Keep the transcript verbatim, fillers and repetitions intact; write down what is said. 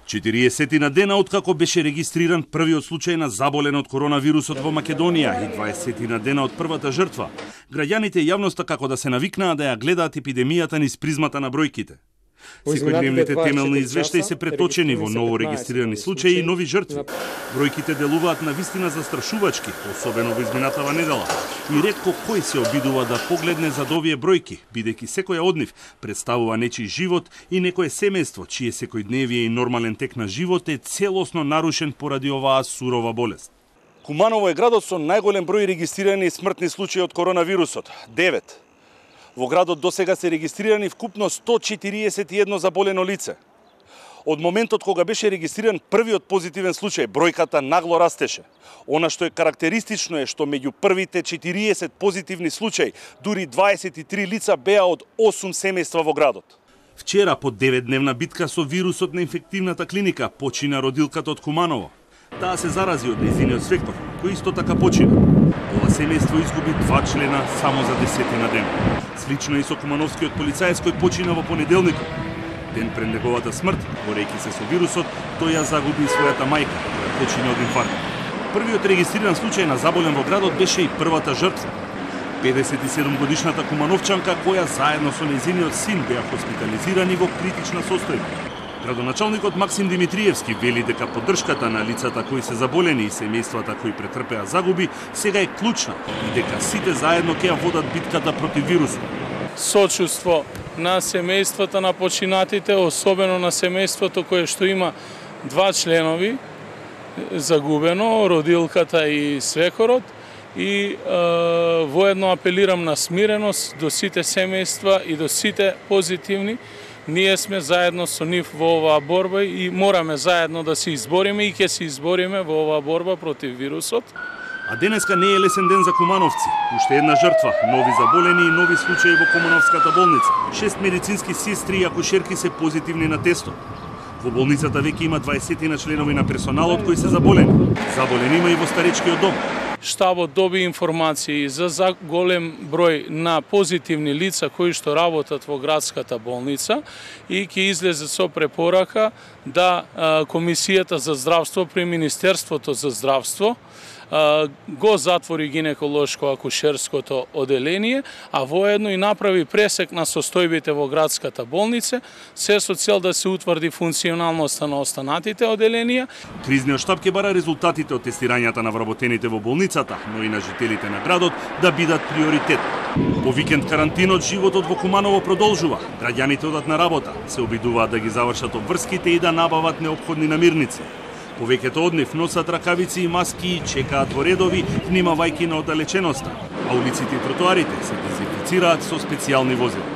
четириесет дена откако беше регистриран првиот случај на заболен од коронавирусот во Македонија и дваесет дена од првата жртва, граѓаните и јавноста како да се навикнаа да ја гледаат епидемијата низ призмата на бројките. Секојдневните темелни извештаи се преточени во ново регистрирани случаи и нови жртви. Бројките делуваат на вистина застрашувачки, особено во изминатава недела. И ретко кој се обидува да погледне зад овие бројки, бидејќи секоја од нив представува нечи живот и некое семејство, чие секојдневие и нормален тек на живот е целосно нарушен поради оваа сурова болест. Куманово е градот со најголем број регистрирани смртни случаи од коронавирусот – девет. Во градот досега се регистрирани вкупно сто четириесет и едно заболено лице. Од моментот кога беше регистриран првиот позитивен случај, бројката нагло растеше. Она што е карактеристично е што меѓу првите четириесет позитивни случаи, дури дваесет и три лица беа од осум семејства во градот. Вчера, по деветдневна битка со вирусот на инфективната клиника, почина родилката од Куманово. Таа се зарази од нејзиниот свекор, кој исто така почина. Ова семејство изгуби два члена само за десетина дена. Слично и со кумановскиот полицаец кој почина во понеделникот. Ден пред неговата смрт, борејќи се со вирусот, тој ја загуби и својата мајка, која почина од инфаркт. Првиот регистриран случај на заболен во градот беше и првата жртва. педесет и седум годишната кумановчанка која заедно со нејзиниот син беа хоспитализирани во критична состојба. Градоначалникот Максим Димитриевски вели дека поддршката на лицата кои се заболени и семејствата кои претрпеа загуби сега е клучна и дека сите заедно ќе ја водат битката против вирусот. Сочувство на семејствата на починатите, особено на семејството кое што има два членови загубено, родилката и свекорот, и е, воедно апелирам на смиреност до сите семејства и до сите позитивни. Ние сме заедно со нив во оваа борба и мораме заедно да се избориме и ќе се избориме во оваа борба против вирусот. А денеска не е лесен ден за кумановци. Уште една жртва, нови заболени и нови случаи во Кумановската болница. Шест медицински сестри и акушерки се позитивни на тестот. Во болницата веќе има дваесет на членови на персоналот кои се заболени. Заболени има и во старечкиот дом. Штабот доби информации за голем број на позитивни лица кои што работат во градската болница и ќе излезе со препорака да Комисијата за здравство при Министерството за здравство го затвори гинеколошко-акушерското оделение, а воедно и направи пресек на состојбите во градската болница, се со цел да се утврди функционалноста на останатите оделенија. Кризниот штаб ќе бара резултатите од тестирањата на вработените во болницата, но и на жителите на градот да бидат приоритет. По викенд карантинот животот во Куманово продолжува. Граѓаните одат на работа, се обидуваат да ги завршат обврските и да набават неопходни намирници. Повеќето од нив носат ракавици и маски и чекаат во редови, внимавајќи на оддалеченоста, а улиците и тротоарите се дезинфицираат со специјални возила.